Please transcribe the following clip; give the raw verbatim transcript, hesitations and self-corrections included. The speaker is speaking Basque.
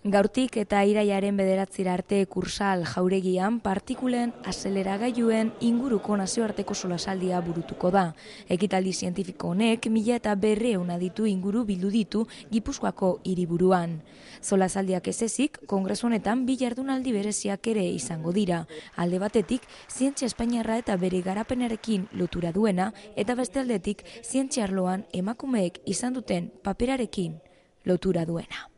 Gaurtik eta iraiaren bederatzira arte Kursal jauregian partikulen azeleragailuen inguruko nazioarteko solasaldia burutuko da. Ekitaldi zientifiko honek mila eta berreun aditu inguru bildu ditu Gipuzkoako hiriburuan. Solasaldiak ez ezik, kongresu honetan bi jardunaldi bereziak ere izango dira. Alde batetik, zientzia espainiarra eta bere garapenarekin lotura duena, eta beste aldetik, zientzia arloan emakumeek izan duten paperarekin lotura duena.